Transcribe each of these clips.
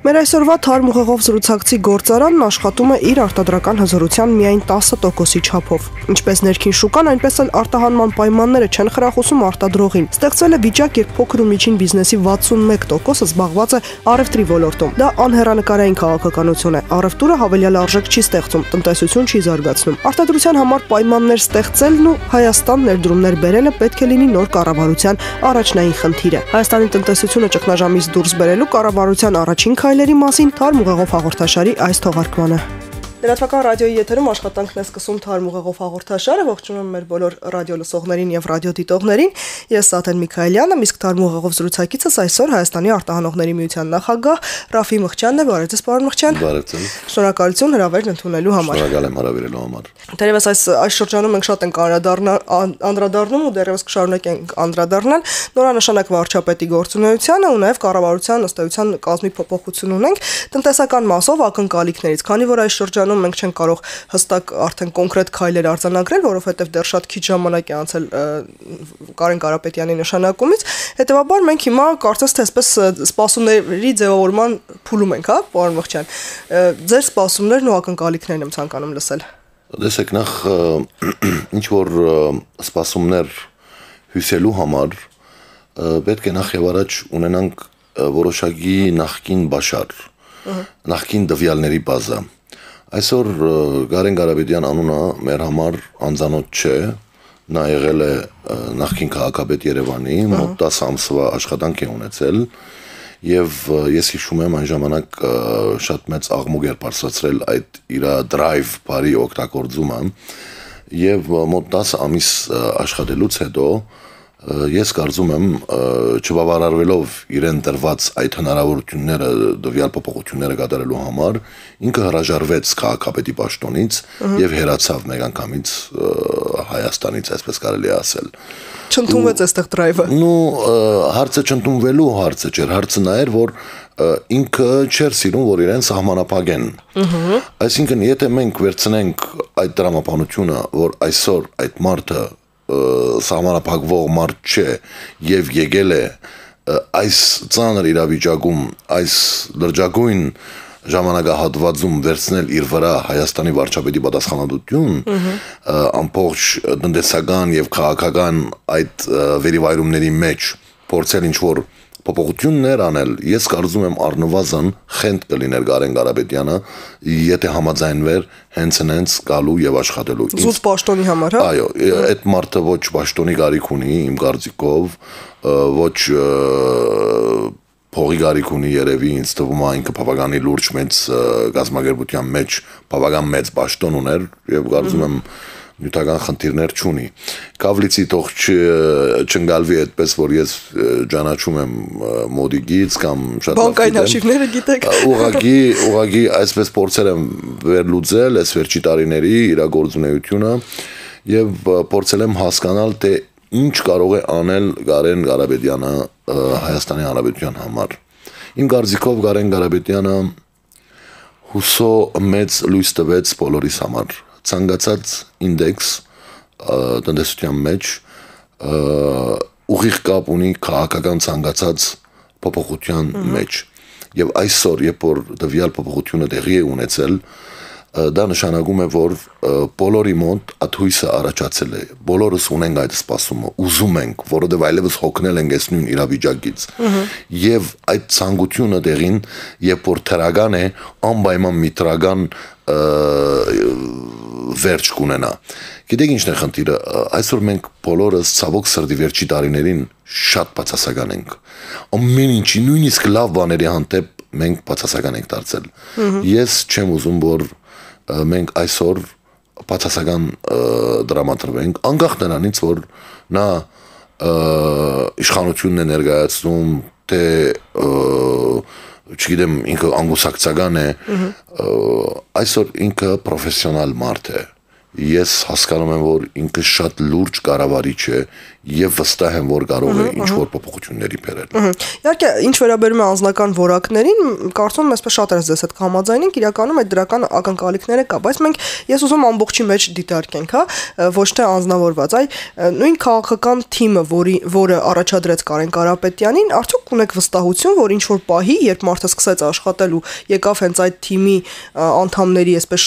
Մեր այսօրվա թարմ ուղեղով զրուցակցի գործարանն աշխատում է իր արտադրական հզորության միայն 10%-ի չափով։ Ինչպես ներքին շուկան, այնպես էլ արտահանման պայմանները չեն խրախուսում արտադրողին։ Ստեղծվել է վիճակ, երբ փոքր ու միջին բիզնեսի 61%-ը զբաղված է առևտրի ոլորտում։ Դա անհեռանկարային քաղաքականություն է։ Առևտուրը հավելյալ արժեք չի ստեղծում, տնտեսություն չի զարգացնում։ Արտադրության համար պայմաններ ստեղծելն ու Հայաստան ներդրումներ բերելը պետք է լինի նոր կառավարության առաջնային խնդիրը։ Հայաստանի տնտեսությունը ճգնաժամից դուրս բերելու կառավարության առաջին քայլերի մասին թարմ ուղեղով հաղորդաշարի այս թողարկմանը։ Լրատվական ռադիոյի եթերում աշխատանքն է սկսում թարմ ուղեղով հաղորդաշարը, ողջունում եմ մեր բոլոր ռադիո լսողներին եւ ռադիոդիտողներին։ Ես Սաթեն Միքայելյանը, իսկ թարմ ուղեղով զրուցակիցս այսօր Հայաստանի արտահանողների միության նախագահ Ռաֆի Մղչյանն է, բարև ձեզ, պարոն Մղչյան։ Բարև ձեզ։ Շնորհակալություն հրավերն ընդունելու համար։ Շնորհակալ եմ հրավիրելու համար։ Դերևս այս շրջանում մենք շատ ենք անդրադառնում ու դերևս կշարունակենք անդրադառնալ նորանշանակ վարչապետի գործունեությանը ու նաև կառավարության ըստ էության կազմի փոփոխություն ունենք տնտեսական մասով ակնկալիքներից, քանի որ այս շրջանում մենք չենք կարող հստակ արդեն կոնկրետ քայլեր արձանագրել, որովհետև դեռ շատ քիչ ժամանակ է անցել Կարեն Կարապետյանի նշանակումից, հետևաբար մենք հիմա կարծես թե այսպես սպասումների ձևավորման փուլում ենք, հա, պարոն Մղչյան։ Ձեր սպասումներն ու ակնկալիքներն եմ ցանկանում լսել։ Տեսեք, նախ ինչ որ սպասումներ հյուսելու համար պետք է նախ եւ առաջ ունենանք որոշակի նախկին բաշար, նախկին դվյալների բազա։ Այսօր Կարեն Կարապետյան անունը մեր համար անծանոթ չէ, նա եղել է նախկին քաղաքապետ Երևանի, մոտ 10 ամսվա աշխատանք է ունեցել եւ ես հիշում եմ այն ժամանակ շատ մեծ աղմուկ էր բարձրացրել այդ իր drive բարի օգտագործումը եւ մոտ 10 ամիս աշխատելուց հետո ես կարծում եմ չբավարարվելով իրեն տրված այդ հնարավորությունները դվյալ փոփոխությունները կատարելու համար ինքը հրաժարվեց քաղաքապետի պաշտոնից եւ հեռացավ մեկ անգամից Հայաստանից, այսպես կարելի է ասել։ Չընդունվեց այստեղ drive-ը։ Հարցը չընդունվելու հարցը չէր, հարցը նա էր, որ ինքը չէր սիրում, որ իրեն սահմանափակեն։ Այսինքն, եթե մենք վերցնենք այդ դրամապանությունը, որ այսօր այդ մարդը սահմանափակվող մարդ չէ եւ եկել է այս ծանր իրավիճակում, այս լրջագույն ժամանակահատվածում վերցնել իր վրա Հայաստանի վարչապետի պատասխանատվություն, ամբողջ տնտեսական եւ քաղաքական այդ վերիվայրումների մեջ փորձել ինչ-որ փոփոխություններ անել, ես կարծում եմ առնվազն խենթ կլիներ Կարեն Կարապետյանը, եթե համաձայնվեր հենց գալու եւ աշխատելու։ Զուտ պաշտոնի համար, հա։ Այո, այդ մարդը ոչ պաշտոնի կարիք ունի, իմ կարծիքով, ոչ փողի կարիք ունի երևի, ինձ թվում է ինքը բավականին լուրջ մեծ գազագերբության մեջ բավական մեծ պաշտոն ուներ եւ կարծում եմ նյութական խնդիրներ չունի։ Կավլիցի թող չընկալվի այդպես, որ ես ճանաչում եմ մոդիկից կամ շատ լավ բանկային արխիվները գիտեք։ Ուղղակի այսպես փորձել եմ վերլուծել այս վերջի տարիների իրագործունեությունը եւ փորձել եմ հասկանալ, թե ինչ կարող է անել Կարեն Կարապետյանը Հայաստանի Հանրապետության համար։ Իմ կարծիքով Կարեն Կարապետյանը հուսո մեծ լույս տվեց բոլորիս համար։ Ցանկացած ինդեքս տնտեսության մեջ ուղիղ կապ ունի քաղաքական ցանկացած փոփոխության մեջ եւ այսօր երբ որ դվյալ փոփոխությունը տեղի է ունեցել դա նշանակում է որ բոլորի մոտ աթույսը առաջացել է բոլորս ունենք այդ սպասումը ուզում ենք որովհետեւ այլևս հոգնել ենք այս նույն իրավիճակից եւ այդ ցանկությունը դեղին երբ որ թրական է անպայման միտրական վերջ կունենա։ Գիտեք ինչն է խնդիրը, այսօր մենք բոլորս ցավոք սրտի վերջի տարիներին շատ բացասական ենք։ Ամեն ինչի, նույնիսկ լավ բաների հանդեպ մենք բացասական ենք դարձել։ Ես չեմ ուզում, որ մենք այսօր բացասական դրամատրվենք, անկախ նրանից, որ նա իշխանությունն է ներկայացնում, թե չգիտեմ, ինքը անգուսակցական է, այսօր ինքը պրոֆեսիոնալ մարդ է։ Ես հասկանում եմ, որ ինքը շատ լուրջ կառավարիչ է եւ վստահ եմ, որ կարող է ինչ-որ փոփոխությունների բերել։ Իհարկե, ինչ վերաբերում է անձնական որակներին, կարծում եմ, այսպես շատերս ձեզ հետ կհամաձայնենք, իրականում այդ դրական ակնկալիքները կա, բայց մենք ես ուզում ամբողջի մեջ դիտարկենք, հա, ոչ թե անձնավորված, այ նույն քաղաքական թիմը, որը առաջադրեց Կարեն Կարապետյանին, արդյոք ունեք վստահություն, որ ինչ-որ պահի, երբ մարդը սկսեց աշխատել ու եկավ հենց այդ թիմի անդամների, այսպես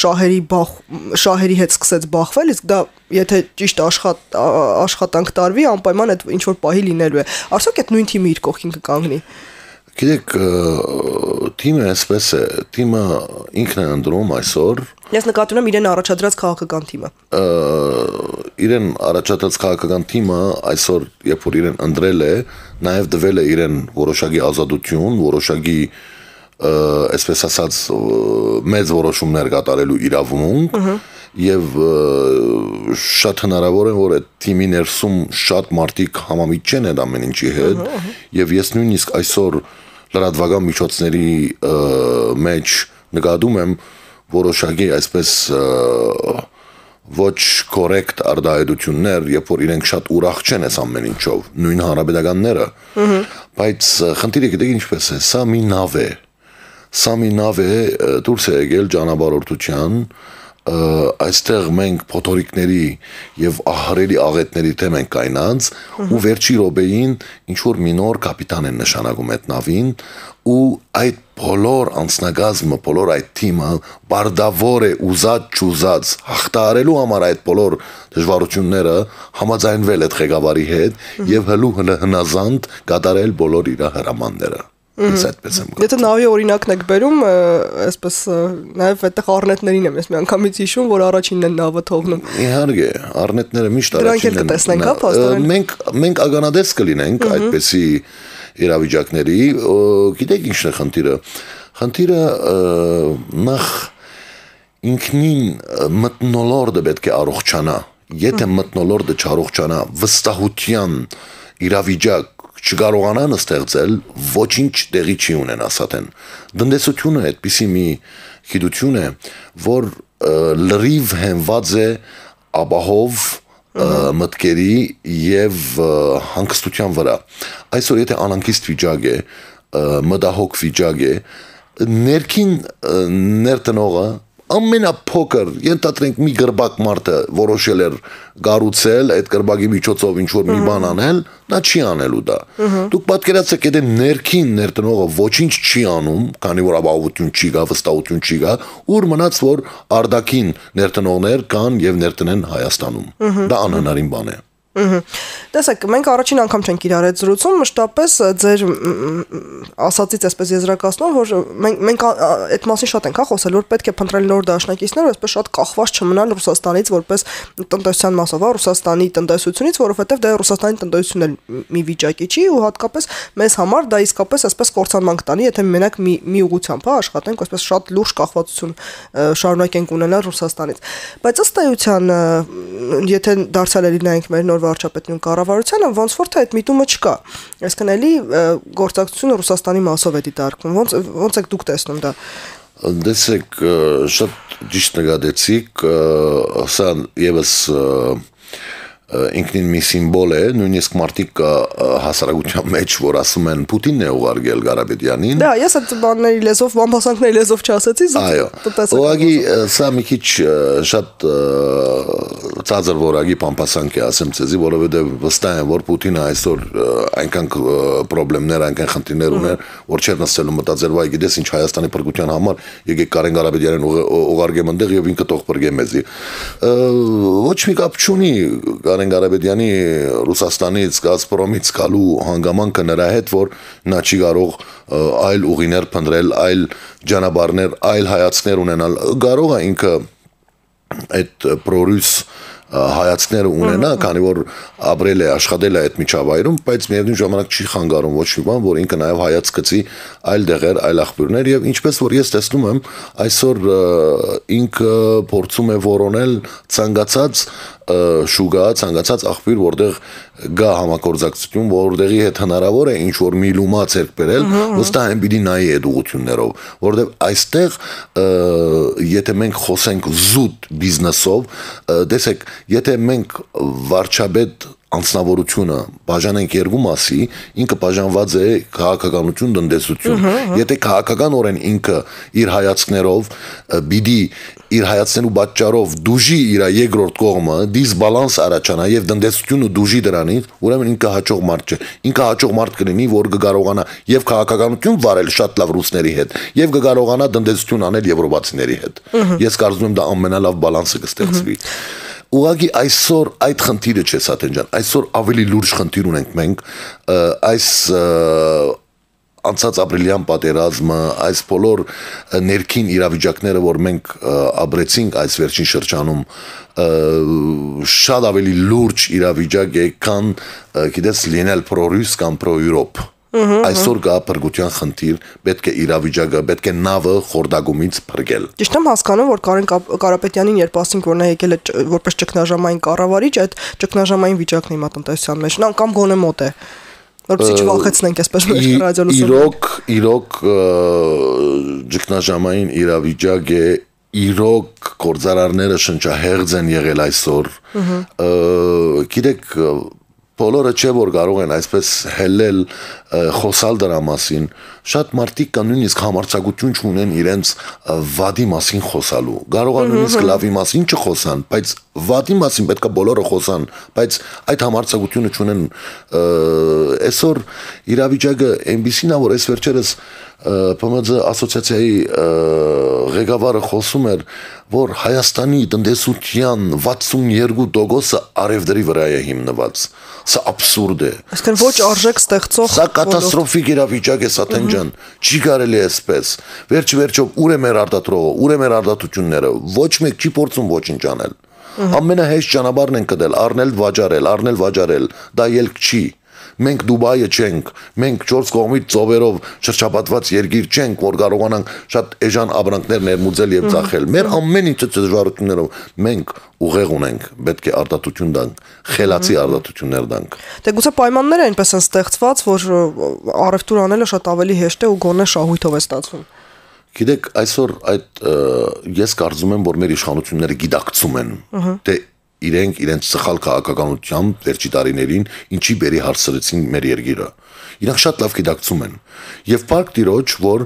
շահերի հետ սկսեց բախվել, իսկ դա եթե ճիշտ աշխատանք տարվի, անպայման այդ ինչ-որ պահի լինելու է։ Արդյոք այդ նույն թիմը իր կողքին կկանգնի։ Գիտեք, թիմը այսպես է, թիմը ինքն է ընտրում այսօր։ Ես նկատի ունեմ իրեն առաջադրած քաղաքական թիմը։ Իրեն առաջադրած քաղաքական թիմը այսօր, երբ որ իրեն ընտրել է, նաև դվել է իրեն որոշակի ազատություն, որոշակի այսպես ասած մեծ որոշումներ կատարելու իրավունք եւ շատ հնարավոր է որ այդ թիմի ներսում շատ մարդիկ համամիտ չեն այդ ամեն ինչի հետ եւ ես նույնիսկ այսօր լրատվական միջոցների մեջ նկատում եմ որոշակի այսպես ոչ կորեկտ արտահայտություններ, երբ որ իրենք շատ ուրախ չեն այս ամեն ինչով, նույն հանրապետականները, բայց խնդիրը գիտեք ինչպես է, սա մի նավ է դուրս է եկել ճանապարհորդության, այստեղ մենք փոթորիկների եւ ահռելի աղետների թեմ ենք կայնած ու վերջի րոպեին ինչ որ մի նոր կապիտան են նշանակում այդ նավին ու այդ բոլոր անձնագազմը, բոլոր այդ թիմը բարդավոր է ուզած հաղթահարելու համար այդ բոլոր դժվարությունները համաձայնվել այդ ղեկավարի հետ եւ հնազանդ կատարել բոլոր իր հրամանները։ Եթե նավի օրինակն եք բերում, այսպես նաև այդտեղ առնետներին եմ ես մի անգամից հիշում, որ առաջինն են նավը թողնում։ Իհարկե, առնետները միշտ առաջինն են։ Դրանք էլ կտեսնենք, հա, փաստորեն։ Մենք ականատես կլինենք այդպիսի իրավիճակների, գիտեք ինչն է խնդիրը։ Խնդիրը նախ ինքնին մթնոլորտը պետք է առողջանա։ Եթե մթնոլորտը չառողջանա, վստահության իրավիճակ չկարողանան ստեղծել, ոչինչ տեղի չի ունեն ասատեն։ Տնտեսությունը այդպիսի մի գիտություն է, որ լրիվ հենված է ապահով մտքերի եւ հանգստության վրա։ Այսօր եթե անհանգիստ վիճակ է, մտահոգ վիճակ է, ներքին ներտնողը ամենափոքր ենթադրենք մի գրբակ մարդը որոշել էր գառուցել այդ գրբակի միջոցով ինչ որ մի բան անել, նա չի անելու դա։ Դուք պատկերացրեք, եթե ներքին ներտնողը ոչինչ չի անում, քանի որ ապահովություն չի գա, վստահություն չի գա, ուր մնաց որ արդակին ներտնողներ կան եւ ներտնեն Հայաստանում։ Դա անհնարին բան է։ Տեսեք, մենք առաջին անգամ չենք իրար այդ զրուցում, մշտապես ձեր ասածից այսպես եզրակացնում, որ մենք այդ մասին շատ ենք խոսել, որ պետք է փնտրել նոր դաշնակիցներ, այսպես շատ կախված չմնալ Ռուսաստանից որպես տնտեսության մասով, Ռուսաստանի տնտեսությունից, որովհետև դա Ռուսաստանի տնտեսությունն էլ մի վիճակի չի ու հատկապես մեզ համար դա իսկապես այսպես կործանման կտանի, եթե մենակ մի ուղղությամբ աշխատենք, այսպես շատ լուրջ կախվածություն շարունակենք ունենալ Ռուսաստանից։ Բայց ըստ էության, եթե դարձյալ նայենք մեր նոր վարչապետին կառավարությանը ոնց որ թե այդ միտումը չկա։ Այսինքն էլի գործակցությունը Ռուսաստանի մասով է դիտարկվում։ Ոնց եք դուք տեսնում դա։ Դեսեք շատ ճիշտ նկատեցիք, սա եւս ինքնին մի սիմվոլ է, նույնիսկ մարդիկ հասարակության մեջ, որ ասում են Պուտինն է ուղարկել Կարապետյանին։ Դա ես այդ բանների լեզվով, բամբասանքների լեզվով չասեցի, այո։ Ուղղակի սա մի քիչ շատ ծածր որակի բամբասանք է ասեմ ցեզի, որովհետև վստահ եմ, որ Պուտինը այսօր այնքան խնդիրներ, այնքան խնդիրներ ուներ, որ չէր նստելու մտածել, վայ, գիտես ինչ Հայաստանի փրկության համար եկեք Կարեն Կարապետյանին ուղարկեմ այնտեղ եւ ինքը թող փրկե մեզի։ Ոչ մի կապ չունի Կարեն Կարապետյանի Ռուսաստանից, Գազպրոմից գալու հանգամանքը նրա հետ, որ նա չի կարող այլ ուղիներ փնտրել, այլ ճանապարհներ, այլ հայացքներ ունենալ։ Կարող է ինքը այդ պրորուս հայացքները ունենա, քանի որ ապրել է, աշխատել է այդ միջավայրում, բայց միևնույն ժամանակ չի խանգարում ոչ մի բան, որ ինքը նաև հայացք գցի այլ դեղեր, այլ աղբյուրներ եւ ինչպես որ ես տեսնում եմ, այսօր ինքը փորձում է որոնել ցանկացած շուգա, ցանկացած աղբյուր, որտեղ գա համագործակցություն, որտեղի հետ հնարավոր է ինչ որ մի լումա ցերկ բերել, վստահ եմ պիտի նայի այդ ուղություններով, որտեղ այստեղ եթե մենք խոսենք զուտ բիզնեսով, տեսեք, եթե մենք վարչապետ անձնավորությունը բաժանենք երկու մասի, ինքը բաժանված է քաղաքականություն, տնտեսություն։ Եթե քաղաքականորեն ինքը իր հայացքներով պիտի իր հայացքներու պատճառով դուժի իր երկրորդ կողմը, դիսբալանս առաջանա եւ տնտեսությունը դուժի դրանից, ուրեմն ինքը հաջող մարդ չէ։ Ինքը հաջող մարդ կլինի, որ կկարողանա եւ քաղաքականություն վարել շատ լավ ռուսների հետ, եւ կկարողանա տնտեսություն անել եվրոպացիների հետ։ Ես կարծում եմ դա ամենալավ բալանսը կստեղծվի։ Ուղղակի այսօր այդ խնդիրը չէ Սաթեն ջան, այսօր ավելի լուրջ խնդիր ունենք մենք, այս անցած ապրիլյան պատերազմը, այս բոլոր ներքին իրավիճակները, որ մենք ապրեցինք այս վերջին շրջանում, շատ ավելի լուրջ իրավիճակ է, քան գիտես լինել պրո-ռուս կամ պրո-եվրոպ։ Այսօր կա փրկության խնդիր, պետք է իրավիճակը, պետք է նավը խորդագումից փրկել։ Ճիշտ եմ հասկանում, որ Կարեն Կարապետյանին երբ ասինք, որ նա եկել է որպես ճգնաժամային կառավարիչ, այդ ճգնաժամային վիճակն է հիմա տնտեսության մեջ, նա կամ գոնե մոտ է, որպեսզի չվախեցնենք այսպես մեր ռադիոլսով։ Իրոք ճգնաժամային իրավիճակ է, իրոք գործարարները շնչահեղձ են եղել այսօր։ Գիտեք, բոլորը չէ որ կարող են այսպես հելել խոսալ դրա մասին, շատ մարդիկ կան նույնիսկ համարձակություն չունեն իրենց վադի մասին խոսալու, կարող են նույնիսկ լավի մասին չխոսան, բայց վադի մասին պետք է բոլորը խոսան, բայց այդ համարձակությունը չունեն։ Այսօր իրավիճակը այնպիսին է, որ այս վերջերս ՊՄԾ ասոցիացիայի ղեկավարը խոսում էր, որ Հայաստանի տնտեսության 62%-ը արևդրի վրա է հիմնված։ Սա աբսուրդ է։ Այսինքն ոչ արժեք ստեղծող։ Սա կատաստրոֆիկ իրավիճակ է Սաթեն ջան, չի կարելի այսպես։ Վերջ-վերջով ուր է մեր արտադրողը, ուր է մեր արտադրությունները, ոչ մեկ չի փորձում ոչինչ անել։ Ամենահեշտ ճանապարհն են կդել, առնել վաճառել, դա ելք չի։ Մենք Դուբայը չենք, մենք 4 կողմից ծովերով շրջապատված երկիր չենք, որ կարողանանք շատ էժան ապրանքներ ներմուծել եւ ծախել։ Մեր ամեն ինչը դժվարություններով մենք ուղեղ ունենք, պետք է արտադրություն տանք, խելացի արտադրություններ տանք։ Դե գուցե պայմանները այնպես են ստեղծված, որ առևտուր անելը շատ ավելի հեշտ է ու գոնե շահույթով է ստացվում։ Գիտեք, այսօր այդ ես կարծում եմ, որ մեր իշխանությունները գիտակցում են, թե իրենց սխալ քաղաքականությամբ վերջի տարիներին ինչի բերի հարցրեցին մեր երկիրը։ Իրանք շատ լավ գիտակցում են։ Եվ փառք Տիրոջ, որ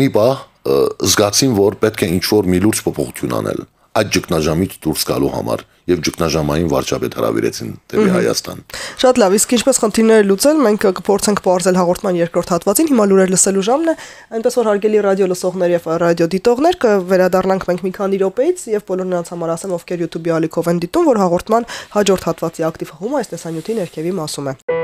մի բան զգացին, որ պետք է ինչ-որ մի լուրջ փոփոխություն անել այդ ճգնաժամից դուրս գալու համար եւ ճգնաժամային վարչապետ հրավիրեցին դեպի Հայաստան։ Շատ լավ, իսկ ինչպես խնդիրները լուծել, մենք կփորձենք բարձել հաղորդման երկրորդ հատվածին, հիմա լուրեր լսելու ժամն է, այնպես որ հարգելի ռադիո լսողներ եւ ռադիո դիտողներ, կվերադառնանք մենք մի քանի րոպեից եւ բոլոր նրանց համար ասեմ, ովքեր YouTube-ի ալիքով են դիտում, որ հաղորդման հաջորդ հատվածի ակտիվ հումը այս տեսանյութի ներքևի մասում է։